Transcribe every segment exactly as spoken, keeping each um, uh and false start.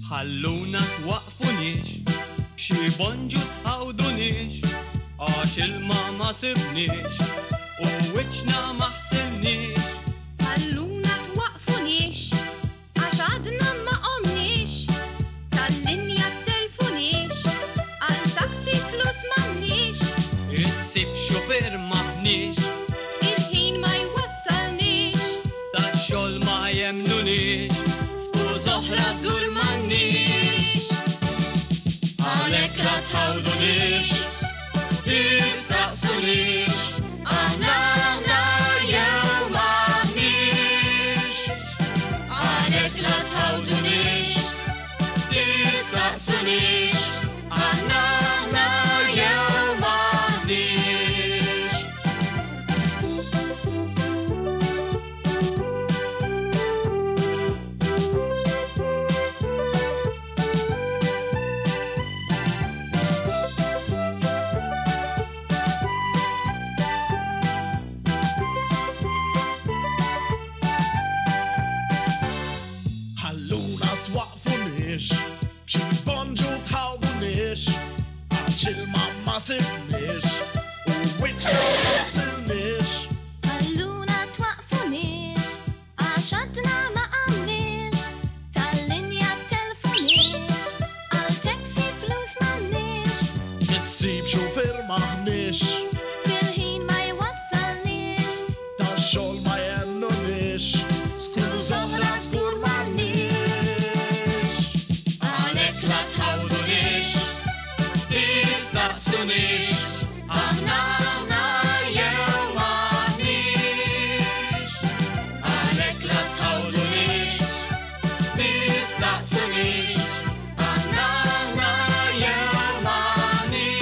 Ħalluna twaqfuniex, b'xi bonġu tħawduniex, għax ilma ma sibniex u wiċċna ma ħsilniex. Ħalluna twaqfuniex, għax għadna ma qomniex, tal-linja telfuniex, għal taxi flus m'għandniex. Issib xufier m'aħniex, Il-ħin ma jwassalniex, tax-xogħol ma jemnuniex, skuż oħra żgur m'għandniex. Għalhekk la tħawduniex, tistaqsuniex, aħna aħna jew m'aħniex. Għalhekk la tħawduniex, tistaqsuniex, aħna aħna jew m'aħniex. Ħalluna twaqfuniex, b'xi bonġu tħawduniex, għax ilma ma sibniex, u wiċċna ma ħsilniex. Ħalluna twaqfuniex, għax għadna ma qamniex, tal-linja telfuniex, għal taxi flus m'għandniex, Issib xufier m'aħniex, il-ħin ma jwassalniex, tax-xogħol ma jemnuniex, skuż oħra żgur m'għandniex. Għalhekk la tħawduniex, tistaqsuniex, aħna aħna jew m'aħniex. Għalhekk la tħawduniex, tistaqsuniex, aħna aħna jew m'aħniex.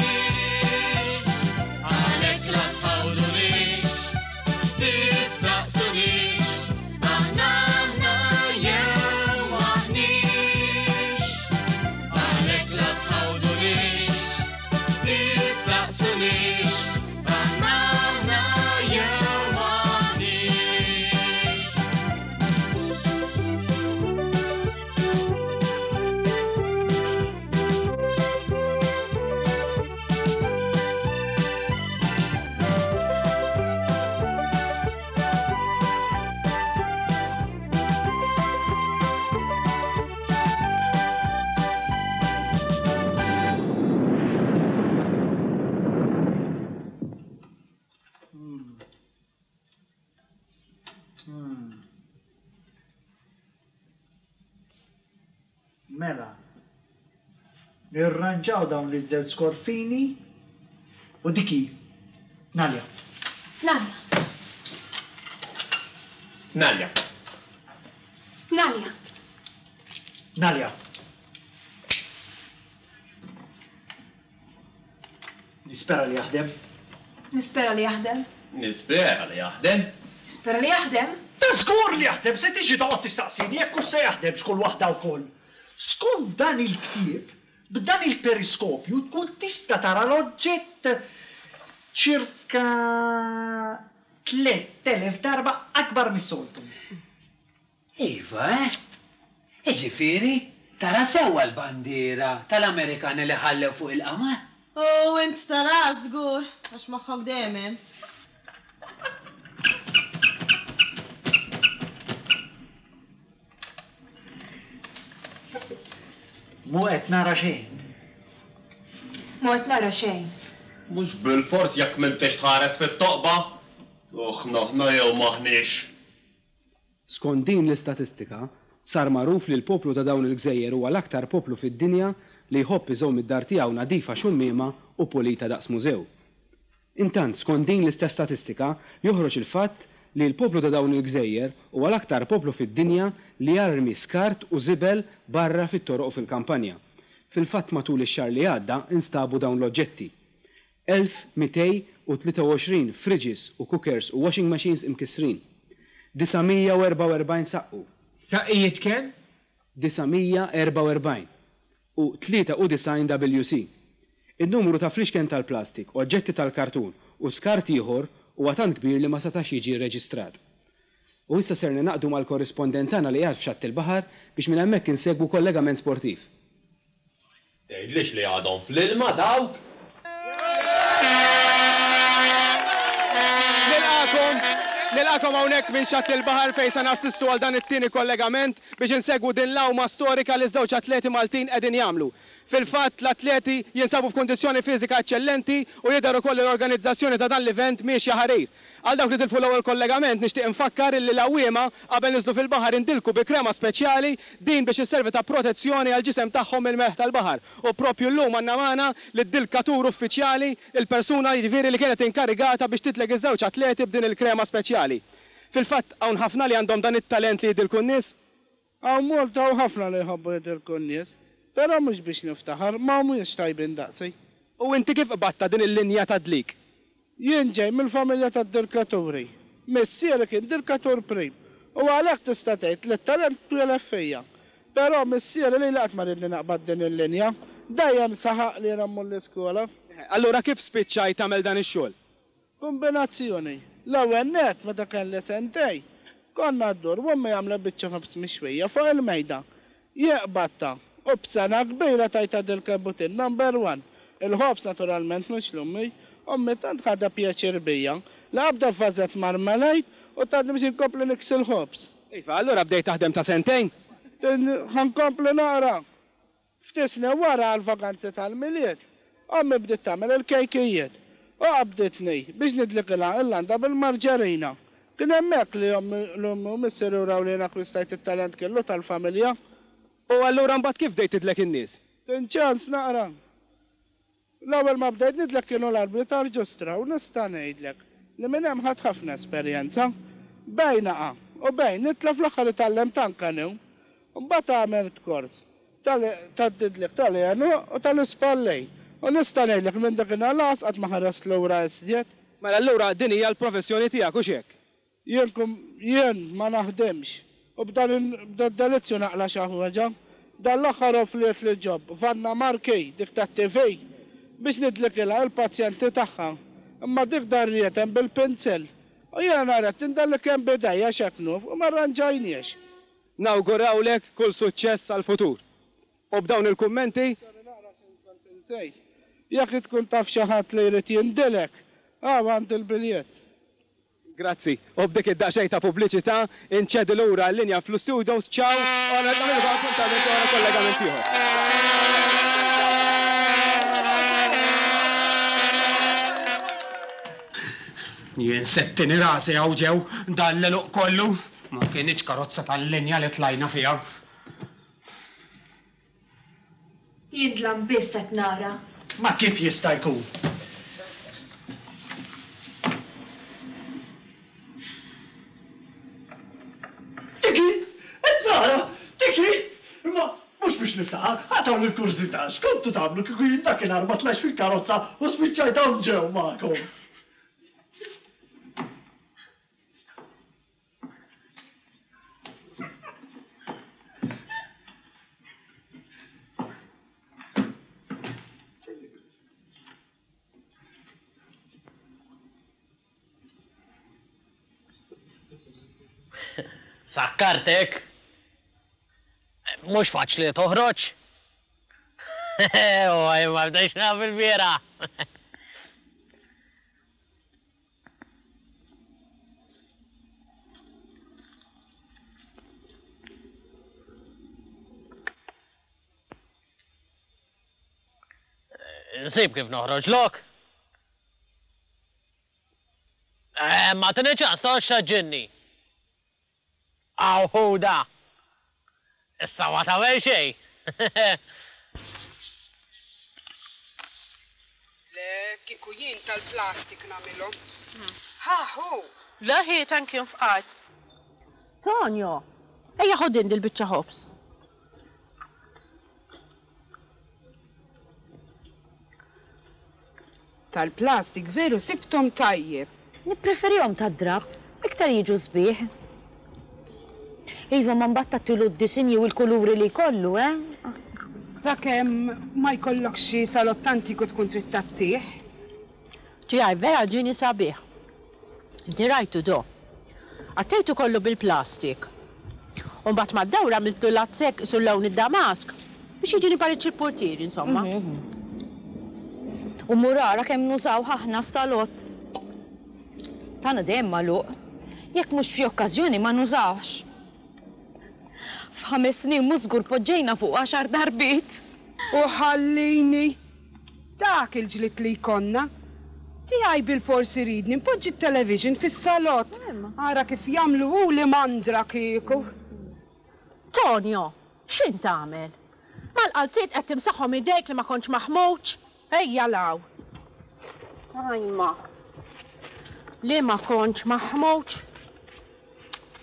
Għalhekk la tħawduniex, tistaqsuniex, aħna aħna jew m'aħniex. Għalhekk la tħawduniex, tistaqsuniex, aħna aħna jew m'aħniex. Mela, nirranġaw dawn li żewġ skorfini u diki, Nalja. Nalja, Nalja. Nalja, Nalja. Nispera li jaħdem. nispera li jaħdem, Nispera li jaħdem. nispera li jaħdem. Ta' żgur li jaħdem, se tiġi toqgħod tistaqsini jekk hux se jaħdem x'kull waħda wkoll. Skont dan il-ktieb, b'dan il-periskopju tkun tista' tara l-oġġett ċirka tliet elef darba akbar mis-soltu. Iva, eh? Iġifieri, tara sewwa l-bandiera tal-Amerikani li ħallew fuq il-qamar. U int tara żgur, għax moħħok dejjem hemm. Mu qed nara xejn. Mu qed nara xejn. Mhux bil-fors jekk m'intix tħares fit-toqba. Uħna aħna jew m'aħniex. Skont din l-istatistika, sar magħruf li l-poplu ta' dawn il-gżejjer huwa l-aktar poplu fid-dinja li jħobb iżomm id-dar tiegħu nadifa xummiema u pulita daqs mużew. Intant, skont din l-istess statistika, joħroġ il-fatt li l-poplu ta' dawn il-gżejjer huwa l-aktar poplu fid-dinja li jarmi skart u żibel barra fit-toroq u fil-kampanja. Fil-fatt matul ix-xahar li għadda instabu dawn l-oġġetti. elf mitejn u tlieta u għoxrin fridges u cookers u washing machines imkissrin. disa' mija u erbgħa u erbgħin saqqu. Saqqijiet kemm? disa' mija erbgħa u erbgħin u tlieta u disgħin W C. In-numru ta' flixken tal-plastik, oġġetti tal-kartun u skart ieħor huwa tant kbir li ma setax jiġi rreġistrat. U issa ser ningħaqdu mal-korrispondent tagħna li qiegħed f'xatt il-baħar biex minn hemmhekk insegwu kollegament sportiv. Tgħidlix li għadhom fl-ilma dawk? Nilqagħkom, nilqagħkom hawnhekk minn xatt il-baħar fejn se nassistu għal dan it-tieni kollegament biex insegwu din l-għawma storika li ż-żewġ atleti Maltin qegħdin jagħmlu. Fil-fatt, l-atleti jinsabu f'kundizzjoni fiżika eċċellenti u jidher ukoll li l-organizzazzjoni ta' dan l-event miexja ħarir. Għal dawk li tilfu l-ewwel kollegament nixtieq infakkar illi l-għawwiema qabel niżlu fil-baħar indilku bi krema speċjali din biex isservi ta' protezzjoni għall-ġisem tagħhom mill-melħ tal-baħar. U proprju llum għandna magħna lid-dilkatur uffiċjali, il-persuna jiġifieri li kienet inkarigata biex titleg iż-żewġ atleti b'din il-krema speċjali. Fil-fatt hawn ħafna li għandhom dan it-talent li jidilku n-nies? Hawn Malta hawn ħafna li jħobbu jidilku n-nies. Però mhux biex niftaħar, ma humiex tajbin daqsi. U inti kif qbadtha din il-linja ta' dlik? Jien ġej mill-familja tad-dilkaturi. Missieri kien dilkatur prim u għalhekk tista' tgħid li t-talent twieled fija. Però missieri lili qatt ma ridni naqbad din il-linja. Dejjem saħaq li jiena mmur l-iskola. Allura kif spiċċajt tagħmel dan ix-xogħol? Kombinazzjoni. L-ewwel nett meta kelli sentejn, konna ddur u ommi għamlet biċċa ħobż mixwija fuq il-mejda. Jien qbadtha u b'sena kbira tajtha dil-kebutin number one. Il-ħobż naturalment mhux l-ommi. Ommi tant ħadha pjaċir bija li qabda f'vażett marmalade u tatni biex inkompli niksi l-ħobż. Iva, allura bdejt taħdem ta' sentejn? Ħa nkompli naqra. Ftit snin wara għall-vaganzi tal-Milied, ommi bdiet tagħmel il-kejkijiet u qabditni biex nidlikilha il-landa bil-marġerina. Kien hemmhekk li ommi l-ommi u missieri wraw li jien akkwistajt it-talent kellu tal-familja. U allura mbagħad kif bdejt tidlek in-nies? Tin ċans naqra. L-ewwel ma bdejt nidlek kienu l-arbli tal-ġustra u nista' ngħidlek li minn hemm ħadt ħafna esperjenza. Bejn naqa' u bejn nitla' fl-aħħar itgħallemt anke new. Mbagħad għamilt kors tad-didlik tal-għenuq u tal-ispallejn. U nista' ngħidlek minn dakinhar lanqas qatt ma ħarest lura iżjed. Mela allura din hija l-professjoni tiegħek hux hekk? Jien kum jien ma naħdimx u b'dan id-delizzju naqla' xi ħaġa. Dan l-aħħar offriet li job Vanna Marchi dik tat-T V biex nidlikilha il-pazjenti tagħha. Imma dik darriet hemm bil-pinzell. U jiena rrid indellek hemm bidejja x'hekk nuf u ma rranġajniex. Nawgurawlek kull suċċess għall-futur. U b'dawn il-kummenti? Sorry, naqra xi kont insejt. Jekk tkun taf xi ħadd li jrid jindilek, hawn għandi l-biljett. Grazzi. U b'dik id-daqsxejn ta' pubbliċità inċedi lura l-linja fl-studios. Ciao, u nagħmlu appuntament wara kollegament ieħor. Jien settini rasi hawn ġew dan l-eluq kollu. Ma kienx karozza tal-linja li tlajna fiha. Jien dlam biss qed nara. Ma kif jista' jkun? Tiki! Qed nara! Tiki! Imma mhux biex niftaħar, ħadd hawn il-kurżità, x'kontu tagħmlu kieku jien dakinhar ma tlajtx fil-karozza u spiċċajt hawn ġew magħkom. Sakkartek. Mhux faċli toħroġ. Oj, ma bdejx naf il-biera. Nsib kif noħroġ lok. Ma tini ċans toqgħodx taġġinni. Awħuda. Issa ma tagħmel xejn. Le, kieku jien tal-plastik nagħmilhom. Ha, hu! Le ħi, thank you, nfqajt. Tonio, ejja ħu din dil-biċċa ħobż. Tal-plastik veru sibthom tajjeb. Nippreferihom tad-drapp, iktar jiġu sbieħ. Iva, ma mbagħad tagħtilu d-disinji u l-kuluri li jkollu, eh? Sakemm ma jkollokx xi salott antiku tkun trid tagħtih. Tiegħi vera ġieni sabiħ. Inti rajtu do. Għattejtu kollu bil-plastik. U mbagħad mad-dawra għamiltlu lazzek sul lawn id-damask biex jiġini pariċ il-portier, insomma. U murara kemm nużaw aħna salott. Tagħna dejjem magħluq. Jekk mhux f'xi okkażjoni ma nużawx. F'ħames snin mhux żgur poġġejna fuq għaxar darbiet. U ħallini. Dak il-ġlied li jkollna. Tiegħi bilfors iridni npoġġi t-television fis-salott. Ara kif jagħmlu hu li mandra kieku. Tonio, x'int tagħmel? Mal-qalziet qed timsaħhom idejk li ma kontx maħmuġ? Ejja law. Ajma. Li ma kontx maħmuġ?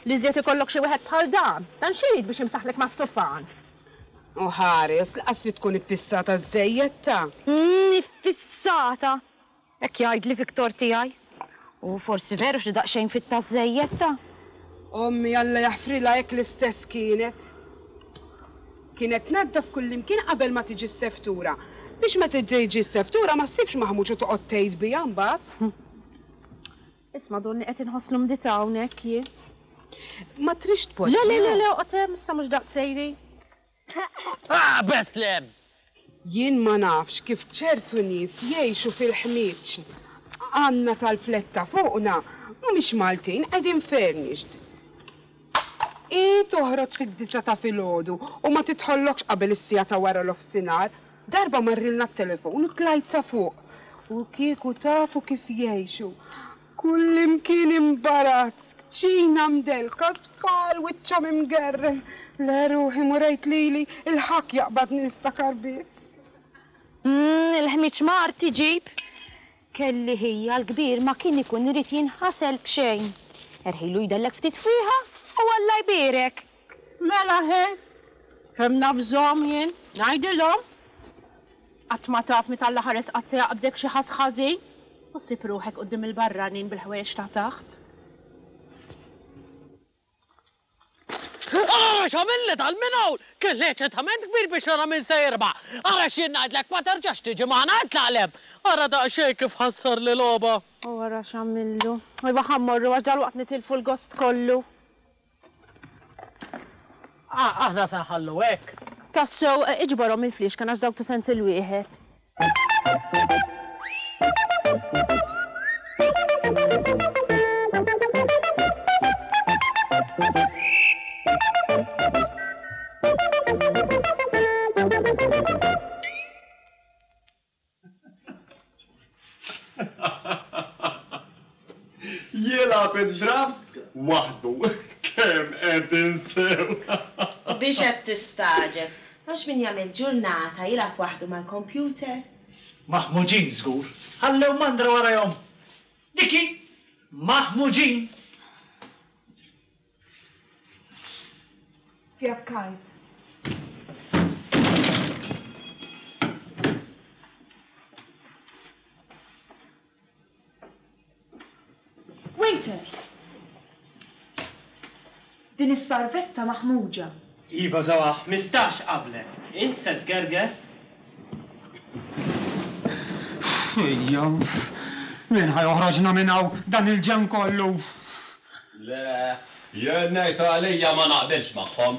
Li żjed ikollok xi wieħed bħal dan, dan xi jrid biex imsaħlek mas-sufan. U ħares, laqas li tkun iffissata żejjed ta'. Mm, iffissata. Hekk jgħidli Viktor tiegħi. U forsi veru xi daqsxejn fitta żejjed ta'. Ommi Alla jaħfrilha hekk l-istess kienet. Kienet tnaddaf kullimkien qabel ma tiġi s-seftura. Biex meta tiġi s-seftura ma ssibx maħmuġ u toqgħod tgħid biha mbagħad. Isma' donni qed inħoss l-umdità hawnhekk jien. Ma trix tpoġġi. Le, le, le, le, oqgħod hemm, issa mhux daqs sejri. Ah, Beslem! Jien ma nafx kif ċertu nies jgħixu fil-ħmieġ. Għandna tal-fletta fuqna, mhumiex Maltin, qegħdin furnished. I toħroġ fid-disa ta' filgħodu u ma titħollokx qabel is-siegħa ta' wara l-ofsinhar. Darba marrilna t-telefon u tlajt sa fuq. U kieku tafu kif jgħixu. Kullimkien imbarazz, kċina mdelka, tfal wiċċhom imgerrem. Le ruħi murejt lili, il-ħakk jaqbadni niftakar biss. Mm, il-ħmiġ mart iġib. Kelli ħija l-kbir ma kien ikun irid jinħasel b'xejn. Erħilu jdellek ftit fwieħa u Alla jbierek. Mela ħe, kemm nafżhom jien, ngħidilhom. Qatt ma taf meta Alla ħares qatt se jaqbdek xi ħass ħażin u ssib ruħek quddiem il-barranin bil-ħwejjeġ ta' taħt. Ara x'għamilli dal-minn hawn! Kelli eċitament kbir biex nara min se jirbaħ. Ara x'jien ngħidlek ma terġax tiġi magħna itlaq 'l hemm. Ara daqsxejn kif ħassarli logħba. U ara x'għamillu. Iva ħa mmorru għax dalwaqt nitilfu l-gost kollu. Aħna se nħallu hekk. Tassew, iġborhom il-fliexken għax dawk tu sens il-wieħed. Jilgħab id-draft waħdu. Kemm qed insew. Biex qed tistagħġeb. Għax min jagħmel ġurnata jilgħab waħdu mal-kompjuter. Maħmuġin żgur. Ħallew mandra warajhom. Diki, maħmuġin. Fjakkajt. Waiter! Din is-sarvetta maħmuġa. Iva żewwa ħmistax qablek. Int se tgerger? Ejja, min ħa joħroġna minn hawn dan il-ġenn kollu? Le, jien ngħid għalija ma naqbilx magħhom.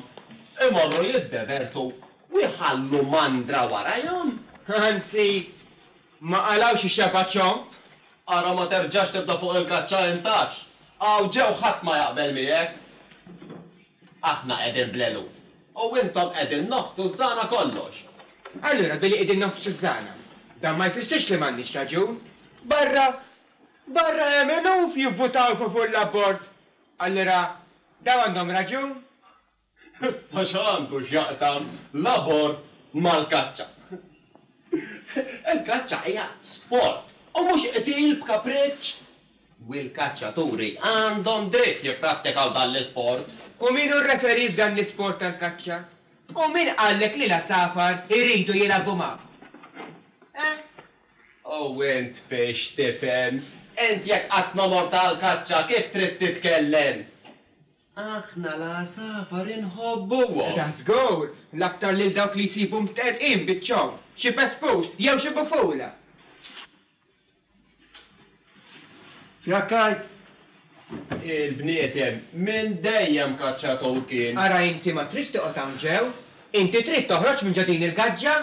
Imorru jiddevertu u jħallu mandra warajhom. Anzi, ma qalgħux ix-xeba ċomb. Ara ma terġax tibda fuq il-kaċċa intax. Hawn ġew ħadd ma jaqbel miegħek. Aħna qegħdin bl-eluf u intom qegħdin nofs tużżana kollox. Allura billi qegħdin nofs tużżana, dan ma jfissirx li m'għandniex raġun. Barra, barra hemm eluf jivvutaw favur l-abort. Allura daw għandhom raġun? Issa x'għandu x'jaqsam l-abort mal-kaċċa. Il-kaċċa hija sport u mhux qtil b'kapriċċ. U l-kaċċaturi għandhom dritt jipprattikaw dan l-isport. U min hu r-referee f'dan l-isport tal-kaċċa? U min qallek li l-għasafar iridu jilagħbu magħkom? Eh? U int fiex tifhem? Int jekk qatt ma mort għall-kaċċa kif trid titkellem? Aħna l-għasafar inħobbuhom. Da żgur, l-aktar lil dawk li jsibu mterqin biċ-ċomb, xi pespus jew xi bufula. Fjakkaj! Il-bniedem minn dejjem kaċċatur kien. Ara inti ma tridx toqgħod hawn ġew, inti trid toħroġ minn ġo din il-gaġġa.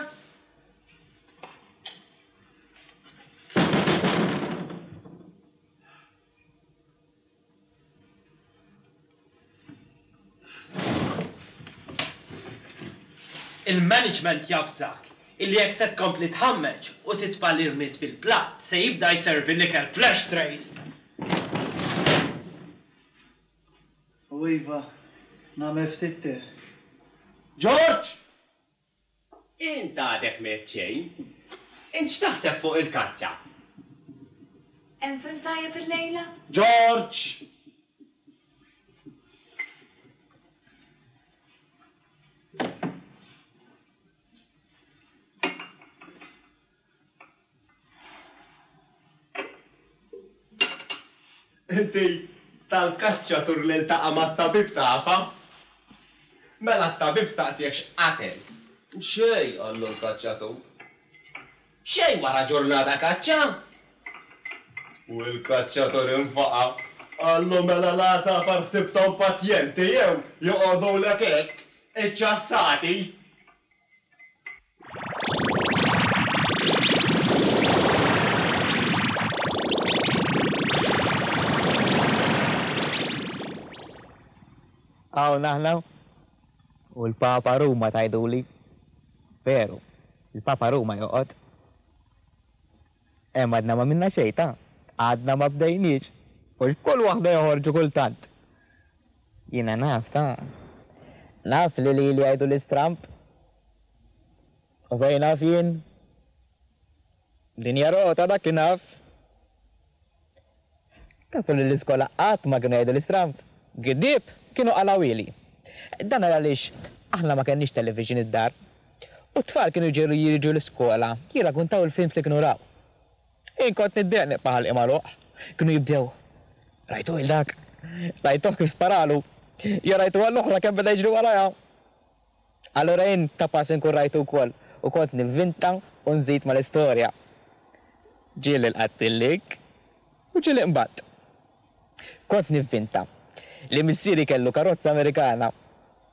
Il-management jafżak illi jekk se tkompli tħammeġ u titfa' l-irmied fil-platt se jibda jservi l-ikel flash trays. U iva, nagħmel ftit te. George! Int għadek m'għedt xejn. Int x'taħseb fuq il-kaċċa? Hemm film tajjeb illejla? George! Inti tal-kaċċatur li ltaqa' mat-tabib tafha? Mela t-tabib staqsieh x'qatel. Xejn, qallu l-kaċċatur. Xejn wara ġurnata kaċċa? U l-kaċċatur infaqa'. Qallu mela l-għasafar ħsibthom pazjenti jew joqogħdulek hekk, iċċassati. Hawn aħna u l-Papa Ruma tgħiduli. Veru, il-Papa Ruma joqgħod. Hemm għadna ma minna xejn ta', għadna ma bdejniex. U x'kull waħda joħorġu kultant. Jiena naf ta'. Naf li lili jgħidu l-istramp. U fejn naf jien? Dinja rota dak li naf. Tafu li l-iskola qatt ma kienu jgħidu l-istramp. Giddieb kienu qalawili. Dan għaliex aħna ma kenniex television id-dar. U t-tfal kienu jġeru jiġu l-iskola, jirrakuntaw il-films li kienu raw. Jien kont niddeq nibqa' ħalqi magħluq. Kienu jibdew. Rajtu il dak? Rajtuh kif sparalu. Jew rajtu għall-oħra kemm beda jiġri warajha. Allura jien ta' pass inkun rajtu wkoll u kont nivvinta u nżid mal-istorja. Ġieli lqattillik u ġieli qbadt. Kont nivvinta li missieri kellu karozza Amerikana.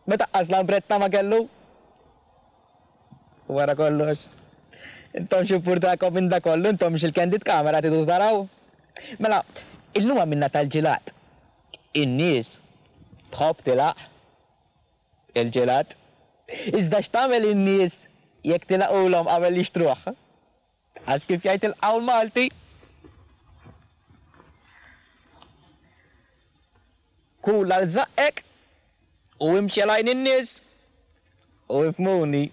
Meta qas lambretta ma kellu. U wara kollox, intom x'impurtakom minn da kollu, intom x'il-candid camera tridu taraw? Mela, illum għamilna tal-ġilat. In-nies tħobb tilaq il-ġilat. Iżda x'tagħmel in-nies jekk tilaqulhom qabel jixtruh? Għax kif jgħid il-qawl Malti, kul għal żaqqek u imxi għal għajn in-nies u ifhmuni.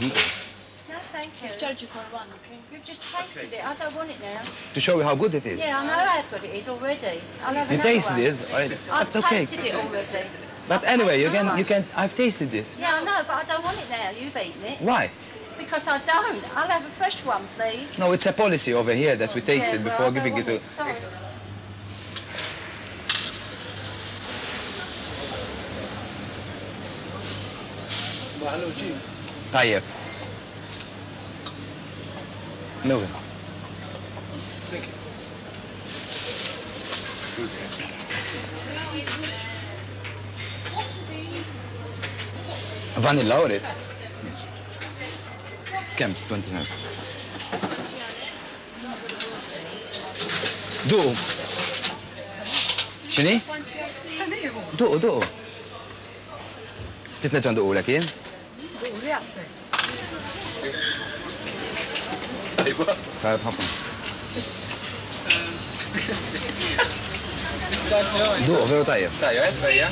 No, thank you. I've charged you for one, okay? You've just tasted it. I don't want it now. To show you how good it is. Yeah, I know how good it is already. I'll have You another tasted one. it? I, I've that's okay. tasted it already. But I've anyway, you tasted can, one. you can. I've tasted this. Yeah, I know, but I don't want it now. You've eaten it. Why? Because I don't. I'll have a fresh one, please. No, it's a policy over here that we taste Yeah, it well, before I don't giving it want to. it. Sorry. Tajjeb. Nuwi. Vanilla or it? Yes. Kemm? twenty cents. Duqu. X'inhi? Duqu, duqu. Trid nerġa' nduqulek jien? Tajjeb ħafna. Duqu, veru tajjeb. Tajjeb, bejja.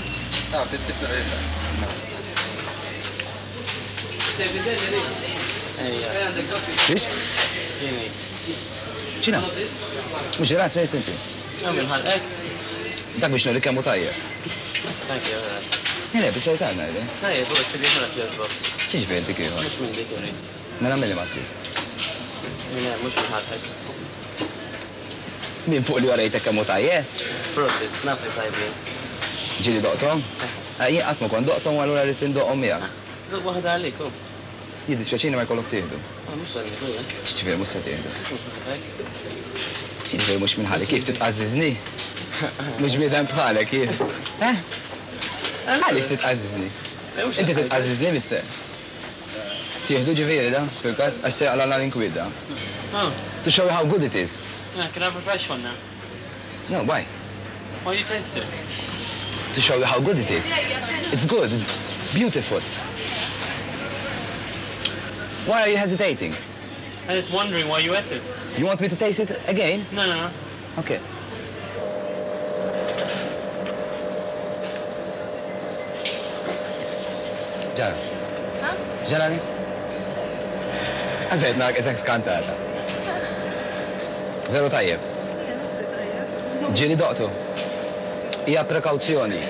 Xiex? ċina? Mux ġelat fejn inti? Minn ħalqek. Dak biex nuri kemm hu tajjeb. Thank you. Le, biss tajna li. Tajjeb, u t-tili ħana tjazba. Xiex dik ieħor? Mux minn dik irrid. Mela milli ma trid. Minn hemm, mux minn ħalqek. Min fuq li warejtek kemm hu tajjeb? Prosit, naf li tajbin. Ġieli doqthom? Jien qatt ma kont doqthom u allura rrid indoqhom miegħek. Duq waħda għalik, hu. Jiddispjaċini ma jkollok tieħdu. Ah, mhux se nieħdu, eh. X'ġifieri mhux se tieħdu? X'ġifieri mhux minn ħalli kif titqażżiżni? Mhux bniedem bħalek jien. Eh? Għaliex titqażżiżni? Inti titqażżiżni mister? Tieħdu ġifieri da, fil-każ, għax se jaqla' l-inkwiet da. Oh. To show you how good it is. Yeah, can I have a fresh one now? No, why? Why do you taste it? To show you how good it is. It's good, it's beautiful. Why are you hesitating? I'm just wondering why you ate it. You want me to taste it again? No, no, no. Okay. Ġara. Ġarani? Għalfejn narak isek skantata. Veru tajjeb. Ġieli doqtu. Hija prekawzjoni.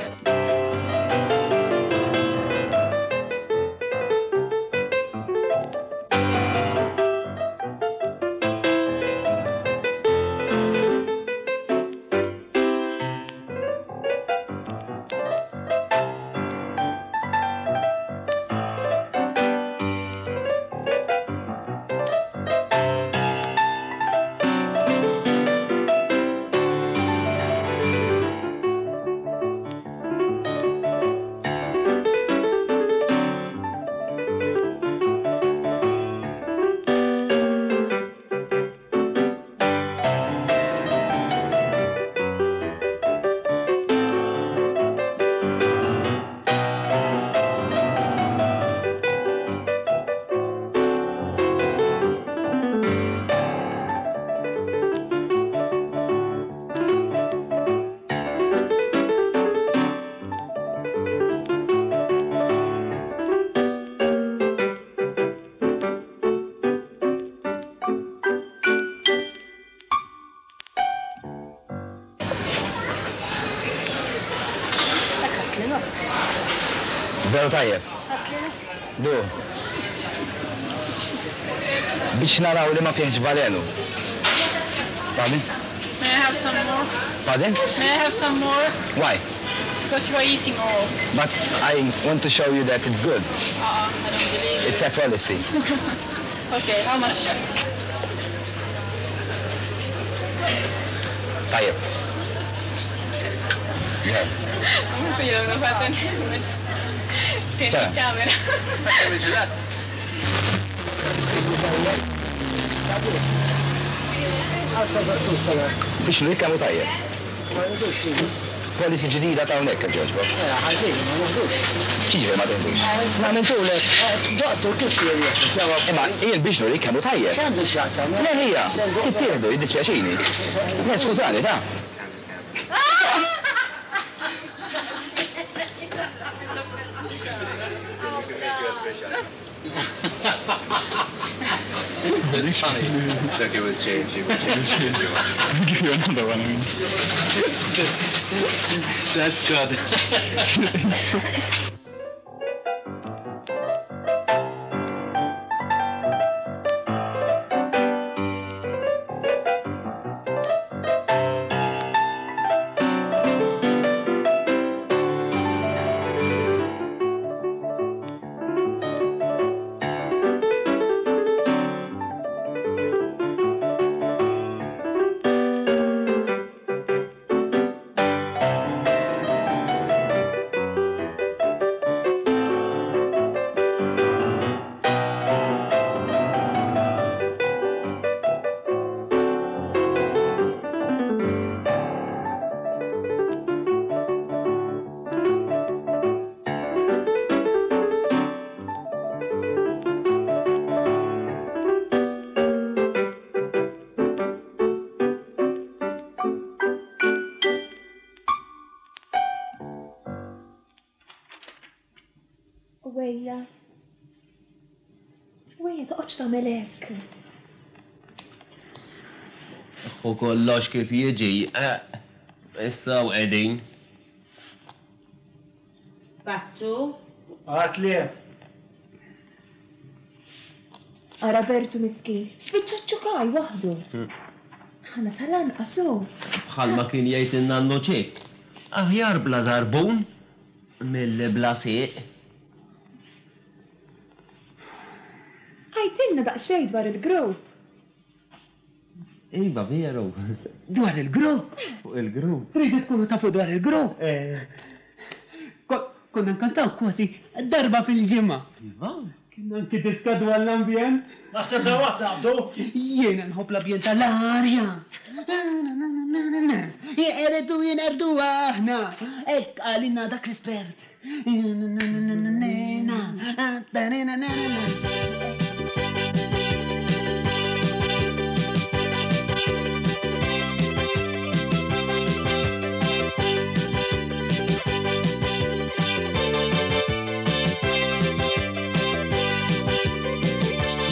Veru tajjeb. Du. Biex naraw li ma fihx valenu. Pardon? May I have some more? Pardon? May I have some more? Why? Because you are eating all. But I want to show you that it's good. Uh-uh, I don't believe it. It's a policy. Okay, how much? Tajjeb. Yeah. Io non fatto niente. Tieni Ċara. il-kamera. Biex nurik kemm hu tajjeb. Policy ġdida ta' hawnhekk ġoġbo. Ħażin, ma naħdux. X'jiġifieri ma teħdux? Ma mentulek. Doqtu kif jien Imma jien biex nurik kemm hu tajjeb. X'għandu x'jaqsam? Le hija, tittieħdu, jiddispjaċini. Le skużani, ta' It's funny. It's okay, we'll change it. We'll change it. I'll give you another one. I mean. That's good. Wejja, toqgħodx tagħmel hekk. U kollox kif jiġi. Issa u qegħdin. Battu? Għat li. Ara Bertu miskin, spiċċa ċukaj waħdu. Ħana tal-anqas hu. Bħalma kien jgħid in-nannu Ċik. Aħjar bla żarbun milli bla sieq. Għidtilna daqsxejn dwar il-grupp. Iva, veru. Dwar il-grupp? Fuq il-grupp. Tridu tkunu tafu dwar il-grupp? Konna nkantaw kważi darba fil-ġimgħa. Iva. Kien anki diska dwar l-ambjent. Naħseb dawat naqbdu. Jiena nħobb l-ambjent tal-arja. Jeqredu jinqerdu aħna. Hekk qalilna dak l-espert.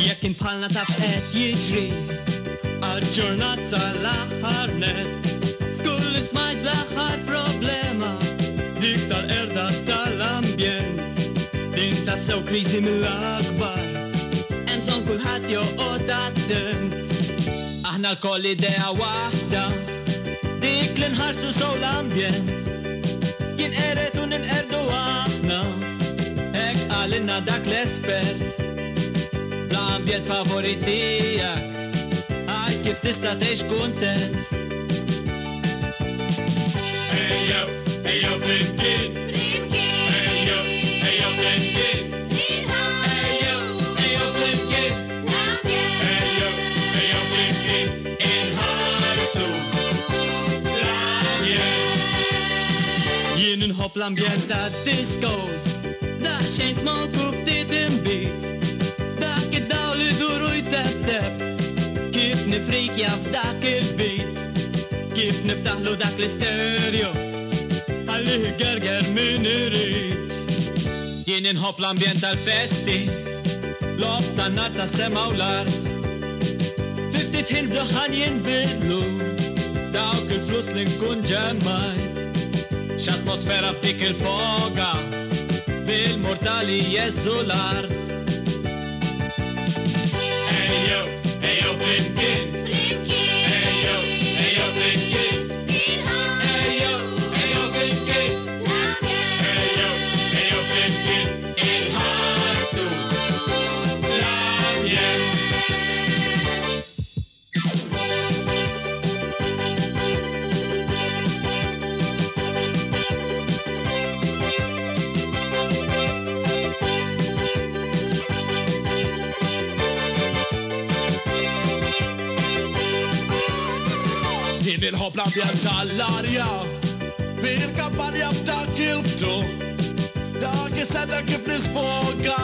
Jekk inbħalna taf x'qed jiġri, aġġornat sal-aħħar net. Skull li smajt bl-aħħar problema, dik tal-qerda tal-ambjent. Din tassew kriżi mill-akbar, hemm bżonn kulħadd joqgħod attent. Aħna lkoll idea waħda, dik li nħarsu sew l-ambjent. Jinqered u ninqerdu aħna, hekk qalilna dak l-espert. L-ambjent favorit tiegħek, għid kif tista' tgħix kuntent. Ejjew, ejjew flimkien. Flimkien. Ejjew, ejjew flimkien. Ejjew, ejjew flimkien. Ejjew, ejjew flimkien. Inħarsu l-ambjent. Jien inħobb l-ambjent tad-discos, daqsxejn smoke u ftit inbid. Dak id-dawl iduru jtebteb, kif nifrikja f'dak il-beat, kif niftaħlu dak l-istereo, ħallih igerger min irid. Jien inħobb l-ambjent tal-festi, logħob tan-nar tas-sema u l-art. Fi ftit ħin f'duħħan jinbidlu dawk il-flus li nkun ġemmajt. X'atmosfera f'dik il-foga, bil-mortali jeżżu l-art. Ejjew, ejjew flimkien. Flimkien. Ejjew, ejjew flimkien. Ejjew, ejjew flimkien. Ejjew, ejjew flimkien. Inħarsu l-ambjent. Jien inħobb l-ambjent tal-arja, fil-kampanja f'dak il-ftuħ. Dak is-sena kif nisfoga,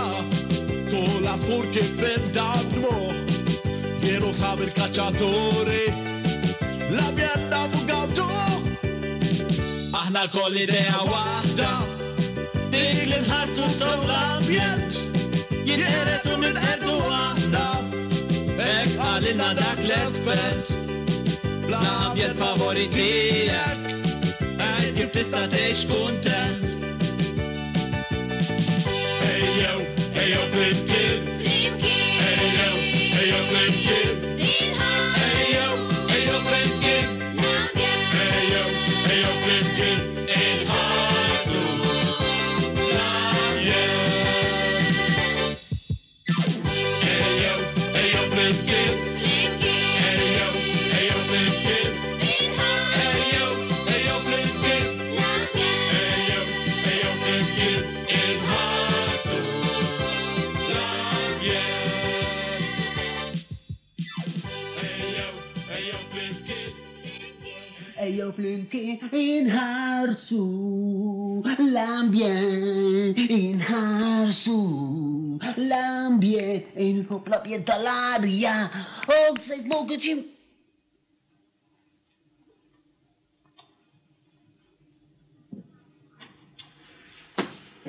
kull għasfur kif indadmuh. Jien u sħab il-kaċċaturi, l-ambjent nafu gawduh. Aħna lkoll idea waħda, dik li nħarsu sew l-ambjent. Jinqered u ninqerdu aħna, hekk qalilna dak l-espert. L-ambjent favorit tiegħek, għid kif tista' tgħix kuntent. Ejjew, ejjew flimkien. Flimkien. Ejjew, ejjew flimkien. Ejjew, ejjew flimkien. Ejjew, ejjew flimkien. Inħarsu l-ambjent. Ejjew, ejjew flimkien. Ejjew, ejjew flimkien. Ejjew, ejjew flimkien. Ejjew, ejjew flimkien. Inħarsu l-ambjent. Ejjew, ejjew flimkien. Ejjew flimkien inħarsu l-ambjent, inħarsu l-ambjent, inħobb l-ambjent tal-arja. Oh, se smoke ċim.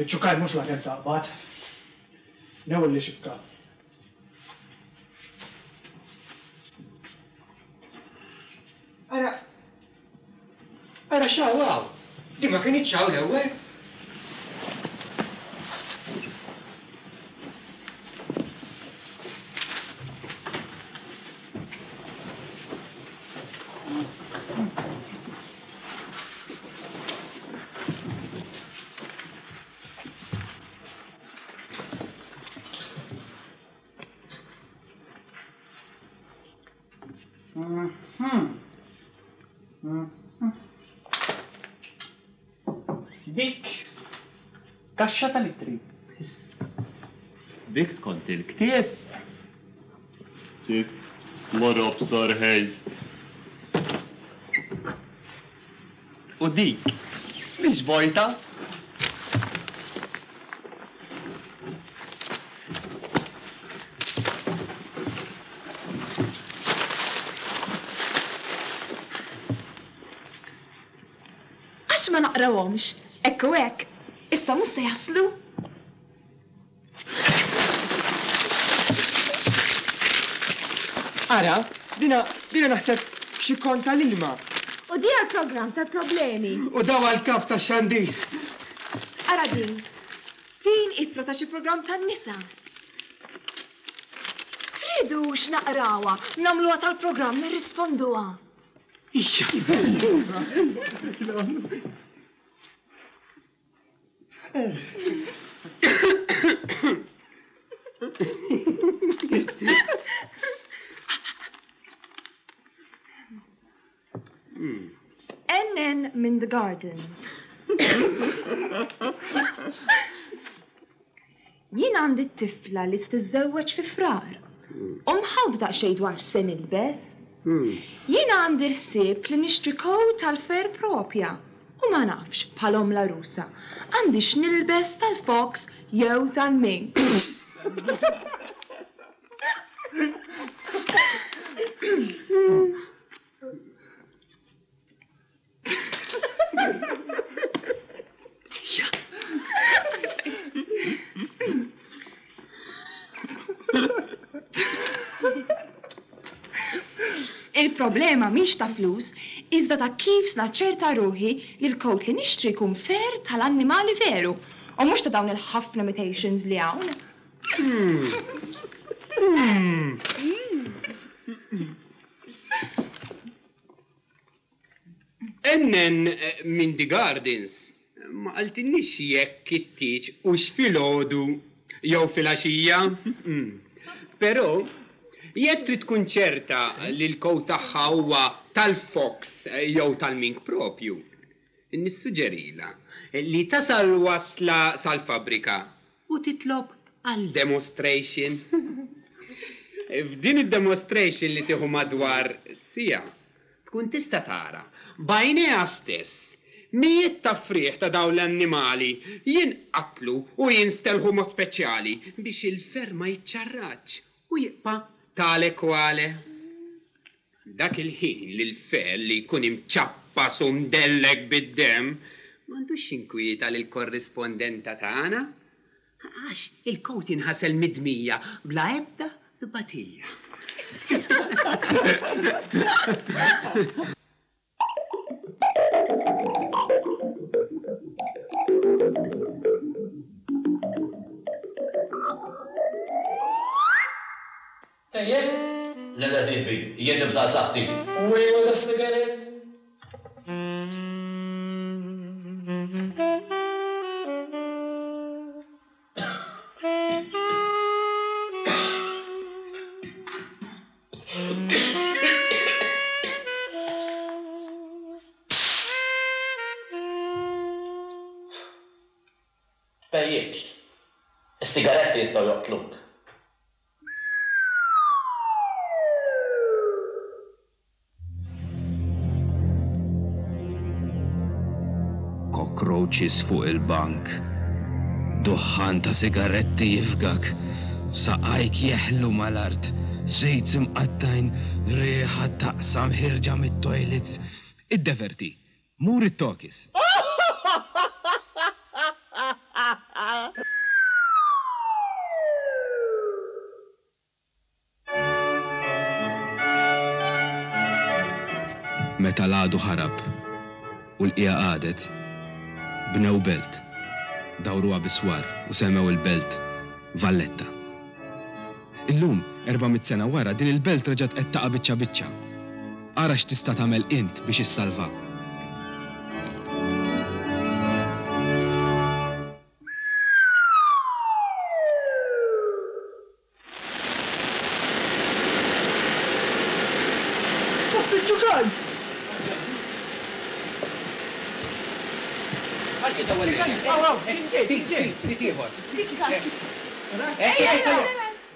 Iċ-ċukaj mhux la kemm taqbad. Newel li xibka. x'hawn hawn? Din ma kinitx hawn l-ewwel. Dik kaxxa tal-ittri. Dik skont il-ktieb. Ċis, lorob sorħej. U dik, mhix vojta. Għax ma naqrawhomx, hekk u hekk, issa mhux se jaslu. Ara, dina, dina naħseb xi kont tal-ilma. U di għal-programm tal-problemi. U daw għal-kap tax-xandir. Ara din, din ittra ta' xi programm tan-nisa. Tridux naqrawha, nagħmluha tal-programm nirrisponduha. Ija, N N minn The Gardens. Jien għandi t-tifla li se tiżżewweġ fi frar. U mħawda daqsxejn dwar se nilbes. Jien għandi l-ħsieb li nixtri coat tal-fer propja. U ma nafx bħalhom la rusa. Għandi x'nilbes tal-fox jew tal-mink. Il-problema mhix ta' flus, iżda ta' kif naċċerta ruħi li l-coat li nixtri jkun fer tal-annimali veru u mhux ta' dawn il-ħafna imitations li hawn. Ennen minn The Gardens ma qaltilniex jekk it-tieġ hux filgħodu jew filgħaxija. Però jekk trid tkun ċerta li l-coat tagħha huwa tal-fox jew tal-mink propju, nissuġġerila li tasal wasla sal-fabbrika u titlob għal demonstration. F'din id-demonstration li tieħu madwar siegħa, tkun tista' tara b'għajnejha stess mijiet ta' frieħ ta' dawn l-annimali jinqatlu u jinstelħu mod speċjali biex il-fer ma jiċċarraġ u jibqa' tale quale. Dak il-ħin li l-fer li jkun imċappas u mdellek bid-demm m'għandux jinkwieta lill-korrispondenta tagħna għax il-coat jinħasel mid-dmija bla ebda tbatija. Tajjeb? Le, le, sieħbi, jien nibża' saħħti. U ejwa da sigarett. Tpejjibx. Is-sigaretti jistgħu joqtluk. Cockroaches fuq il-bank. Duħħan ta' sigaretti jifgak. Saqajk jeħlu mal-art. Sejt imqattajn, riħa taqsam ħirġa mit-toilets. Iddeverti, mur it-tokis. Meta l-għadu ħarab u l-qiegħa qagħdet, bnew belt, dawruha biswar u semmew il-belt Valletta. Illum, erba' mitt sena wara, din il-belt reġgħet qed taqa' biċċa biċċa. Ara x'tista' tagħmel int biex issalvha.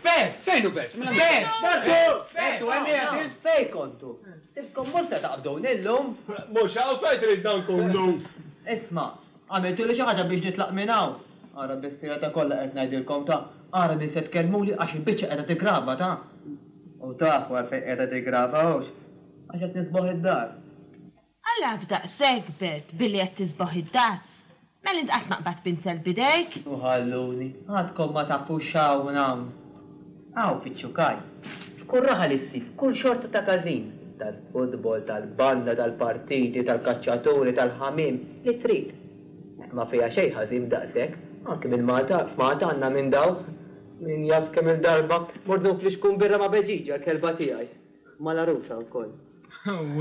Bert! Fejn hu Bert? Bert! Bertu, hemm fejn kontu? Sibtkom mhux se taqbduni llum. Mhux hawn fejn tridna nkunu. Isma', għamiltuli xi ħaġa biex nitlaq minn hawn. Ara bis-sira ta' kollha qed ngħidilkom ta' ara min se tkellmuli għax il-biċċa qiegħda tiggrava ta'. U tafu għalfejn qiegħda tiggrava hux? Għax qed nisboħ id-dar. Alla b'daqshekk, Bert, billi qed tisboħ id-dar. Mela int qatt ma qbadt pinzel b'idejk? U ħalluni, għadkom ma tafux x'hawn hawn. Hawn fiċ-Ċukaj, f'kull raħal issib kull xorta ta' każin, tal-futbol, tal-banda, tal-partiti, tal-kaċċaturi, tal-ħamiem, li trid. Ma fiha xejn ħażin b'daqshekk, anki minn Malta, f'Malta għandna minn dawn. Min jaf kemm-il darba mort nflixkun birra ma' Beġiġa, l-kelba tiegħi. Mal-għarusa wkoll.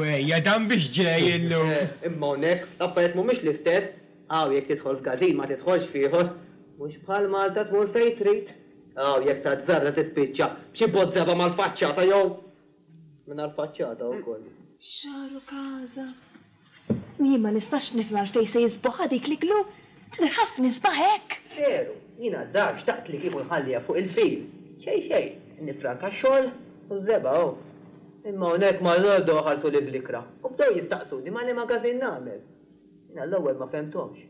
Wejja, dan biex ġej illum. Imma hawnhekk l-affarijiet mhumiex l-istess. Hawn jekk tidħol f'gażin ma tidħolx f'ieħor. Mhux bħal Malta tmur fejn trid. Hawn jekk tazzarda tispiċċa b'xi bozzeba mal-faċċata jew mingħajr faċċata wkoll. Xagħru każa. Jien ma nistax nifhem għalfejn se jisboħha dik l-iglu. Tidher ħafna isbaħ hekk. Veru, jiena d-dar xtaqt li kieku nħalliha fuq il-fil. Xejn xejn, nifranka x-xogħol u ż-żebgħa hu. Imma hawnhekk mal-għodwa ħarsuli bl-ikrah u bdew jistaqsuni ma' liema każin nagħmel. Jiena l-ewwel ma fhemthomx,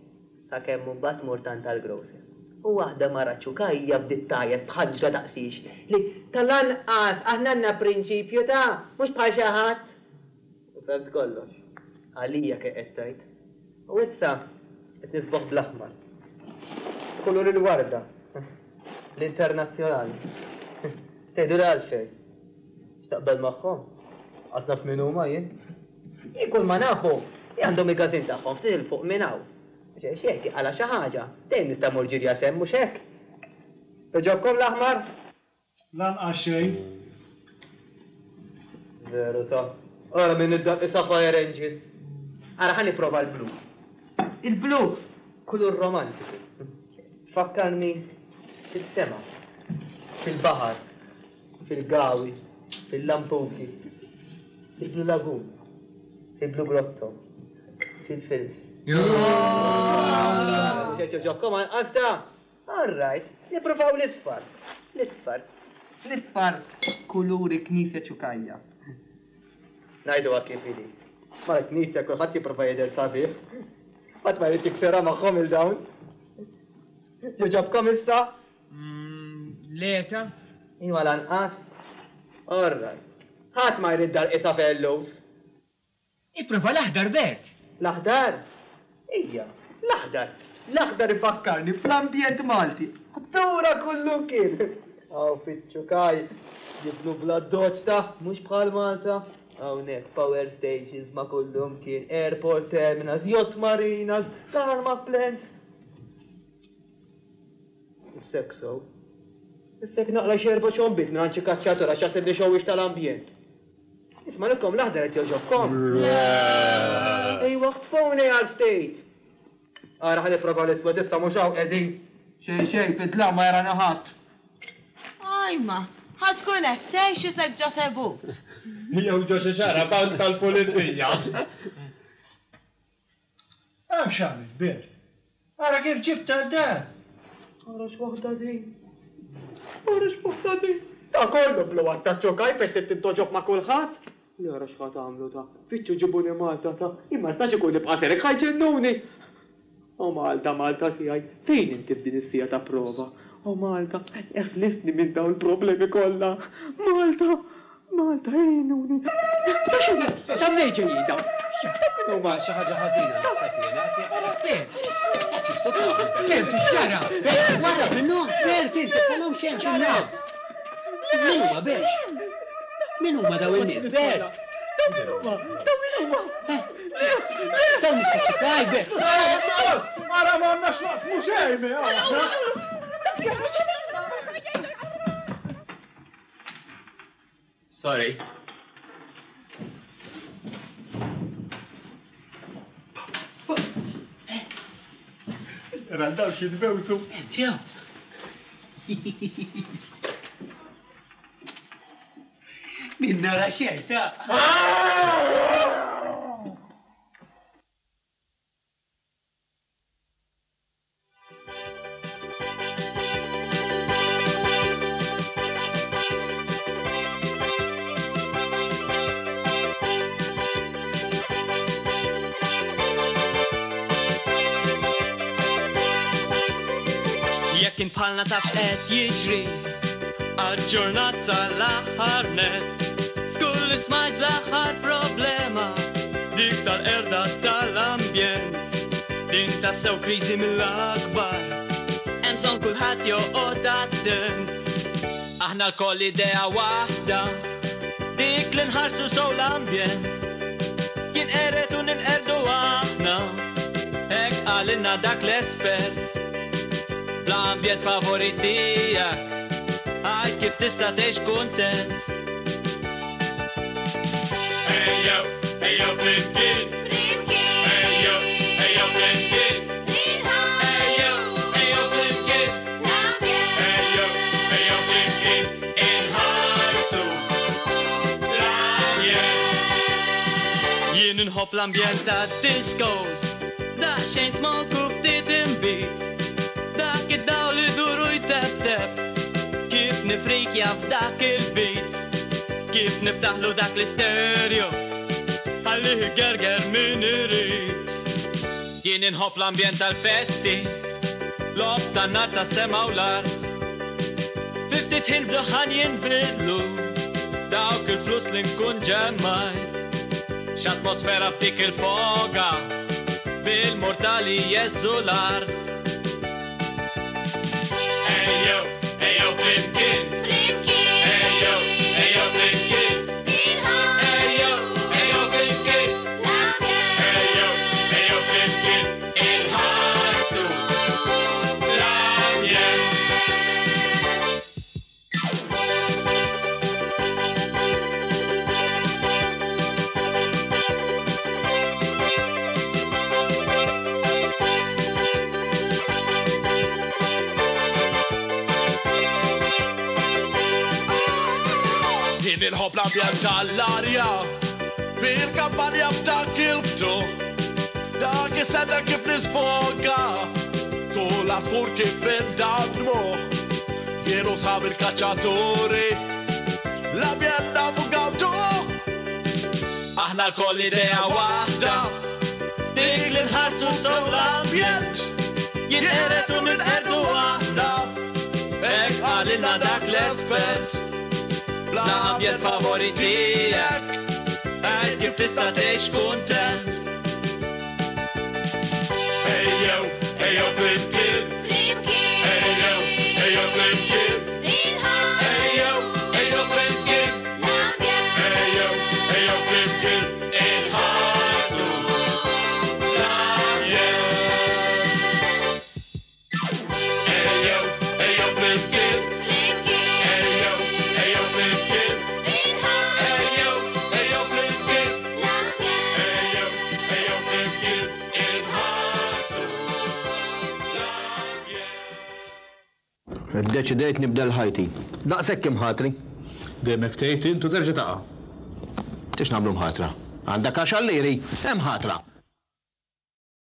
sakemm imbagħad mort għand tal-grocer. U waħda mara ċukajja bdiet tgħajjat b'ħaġra daqsiex li tal-anqas aħna għandna prinċipju ta' mhux bħal xi ħadd. U fhemt kollox. Għalija kien qed tgħid. U issa qed nisboħ bl-aħmar. Kulur il-warda. L-internazzjonali. Tgħidu għalfejn. X'taqbel magħhom? Qas naf min huma jien. Jien kull ma nafu li għandhom il-każin tagħhom ftit 'il fuq minn hawn. Xejn xejn tiqala xi ħaġa. Dejjem nista' mmur ġirja semm mhux hekk. Iġobkom l-aħmar? Lanqas xejn. Veru ta'. Ara min id-daqq isa fire engine. Ara ħa nipprova l-blu. Il-blu kulur romantiku. Fakkarni fis-sema, fil-baħar, fil-gawi, fil-lampuki, fil-Blue Lagoon, fil-Blue Grotto, fil-films. Ġobkom anqas da? All right, nippruvaw l-isfar. L-isfar. L-isfar kuluri knisja ċukajja. Ngħiduha kif inhi. Mal-knisja kulħadd jipprova jidher sabiħ. Ħadd ma jrid jiksirha magħhom il-dawn. Ġobkom issa? Leta? Iwa lanqas. All right. Ħadd ma jrid dar qisha fellus. Ipprova l-aħdar, Bert. L-aħdar? Ija, l-aħdar. L-aħdar ifakkarni fl-ambjent Malti. Ħdura kullu kien. Hawn fiċ-Ċukaj jibnu bla doċ ta' mhux bħal Malta. Hawnhekk power stations ma' kullum kien, airport terminals, yacht marinas, tarmac plants. Issek so. Issek naqla xi erba' ċombit minn għand xi kaċċatur għax jaħsibni xewwix tal-ambjent. Isma' lilkom l-aħdar qed jogħġobkom? Ejwa ħtfuni għal ftit. Ara ħa nipprova l-iswed issa mhux hawn qegħdin. Xejn xejn fid-dlam ma jarana ħadd. Ajma, ħa tkun qed tgħix isek ġo tebut. Jew ġo xi ċarabank tal-pulizija. Hemm x'għamilt, Bert. Ara kif ġibtha d-dar. Ara x'waħda din. Ara x'waħda din. Ta' kollu blu għad ta' ċokaj fejn trid tintoġob ma' kulħadd. Li ara x'ħa tagħmlu ta'. Fittxu ġibuni Malta ta'. Imma nistax ikun nibqa' serek ħa jġennuni. O Malta, Malta tiegħi, fejn inti f'din is-siegħa ta' prova? O Malta, eħlisni minn dawn il-problemi kollha. Malta, Malta, għinuni. Ta' x'inhu? Ta' mnejn ġejjin dawn? Huma xi ħaġa ħażina naħseb jiena. Bert, x'ġara? Bert, wara fin-nofs, Bert, inti tagħlhom xejn fin-nofs. Min huma Bert? Min huma dawn in-nies, Bert? Dawn min huma? Dawn min huma? Dawn nispeċifaj, Ara ma għandnax naqsmu xejn, Sorry. Randaw xi tbewsu. Ġew. Min nara xejn ta'. Jekk inbħalna tafx qed jiġri aġġornat sal-aħħar net. Skull li smajt bl-aħħar problema dik tal-erda tal-ambjent. Din tassew kriżi mill-akbar, hemm bżonn kulħadd joqgħod attent. Aħna lkoll idea waħda, dik li nħarsu sew l-ambjent. Jinqered u ninqerdu aħna, hekk qalilna dak l-espert. L-ambjent favorit tiegħek, għid kif tista' tgħix kuntent. Ejjew, ejjew flimkien. Flimkien. Ejjew, ejjew flimkien. Ejjew, ejjew flimkien. Ejjew, ejjew flimkien. Inħarsu l-ambjent. Jien inħobb l-ambjent tad-discos, daqsxejn smoke u ftit inbid. Dak id-dawl li duru jtebteb, kif nifrikja f'dak il-beat, kif niftaħlu dak l-istereo, ħallih igerger min irid. Jien inħobb l-ambjent tal-festi, logħob tan-nar tas-sema u l-art. Fi ftit ħin f'duħan jinbidlu dawk il-flus li nkun ġemmajt. X'atmosfera f'dik il-foga, bil-mortali jeżżu l-art. Ejjew, ejjew flimkien. Flimkien. Ejjew, ejjew flimkien. Ejjew, ejjew flimkien. Ejjew, ejjew flimkien. Inħarsu l-ambjent. Jien inħobb l-ambjent tal-arja, fil-kampanja f'dak il-ftuħ. Dak is-sena kif nisfoga, kull għasfur kif indan moħ. Jien u sħab il-kaċċaturi, l-ambjent nafu gawduh. Aħna lkoll idea waħda, dik li nħarsu sew l-ambjent. Jinqered u ninqerdu aħna, hekk qalilna dak l-espert. L-ambjent favorit tiegħek, għid kif tista' tgħix kuntent. Ejjew, ejjew flimkien. Ejjew, ejjew flimkien. Ejjew, ejjew flimkien. Ejjew, ejjew flimkien. Inħarsu l-ambjent. Ejjew, ejjew flimkien. Ejjew, ejjew flimkien. Ejjew, ejjew flimkien. Ejjew, ejjew flimkien. Inħarsu l-ambjent. Iddeċidejt nibdel ħajti. Daqshekk imħatri. Dejjem hekk tgħid int u terġa' taqa'. Tix nagħmlu mħatra. Għandek għaxar liri, hemm ħatra.